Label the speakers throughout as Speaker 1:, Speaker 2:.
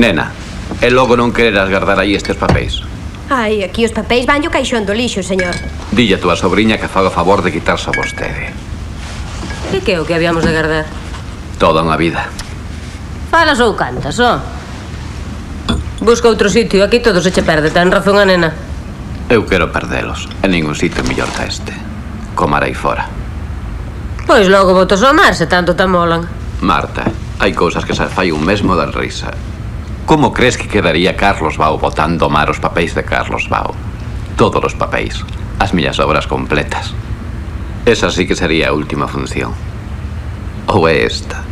Speaker 1: Nena, e logo non quererás guardar aí estes papéis.
Speaker 2: Ai, aquí os papéis van o caixón do lixo, señor.
Speaker 1: Dille a túa sobriña que faga o favor de quitarse a vostede.
Speaker 3: E que é o que habíamos de guardar?
Speaker 1: Toda unha vida.
Speaker 3: Falas ou cantas, ó. Busca outro sitio, aquí todo se che perde, ten razón a nena.
Speaker 1: Eu quero perdelos. En ningún sitio mellor que este. Comar aí fora.
Speaker 3: Pois logo botos ao mar, se tanto te molan.
Speaker 1: Marta, hai cousas que se fai un mesmo dan risa. Como crees que quedaría Carlos Bao botando ao mar os papéis de Carlos Bao? Todos os papéis. As miñas obras completas. Esa sí que sería a última función. Ou é esta?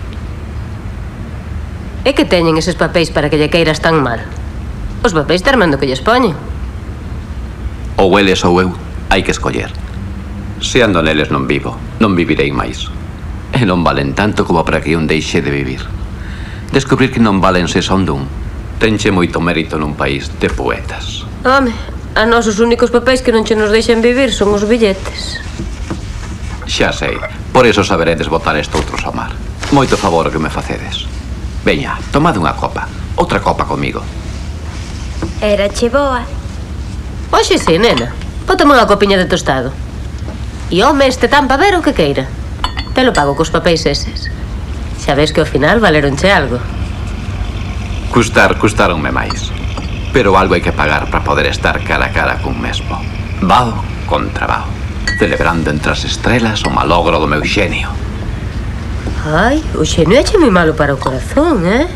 Speaker 3: E que teñen eses papéis para que lle queiras tan mal? Os papéis termando que lles poñen.
Speaker 1: Ou eles ou eu. Hai que escoller. Se ando neles non vivo, non vivirei máis. E non valen tanto como para que un deixe de vivir. Descubrir que non valen se son dun tenche moito mérito nun país de poetas.
Speaker 3: Home, a nós os únicos papéis que non che nos deixen vivir son os billetes.
Speaker 1: Xa sei, por eso saberedes botar estoutros ao mar. Moito favor o que me facedes. Veña, tomade unha copa. Outra copa comigo.
Speaker 2: Era che boa.
Speaker 3: Oxe sí, nena. Bótame unha copiña de tostado. E home, este tan pa ver o que queira. Te lo pago cos papéis eses. Xa ves que ao final valeronche algo.
Speaker 1: Custaronme máis. Pero algo hai que pagar para poder estar cara a cara cun mesmo. Bao contra Bao. Celebrando entre as estrelas o malogro do meu xenio.
Speaker 3: Ai, o xenio é moi malo para o corazón, eh?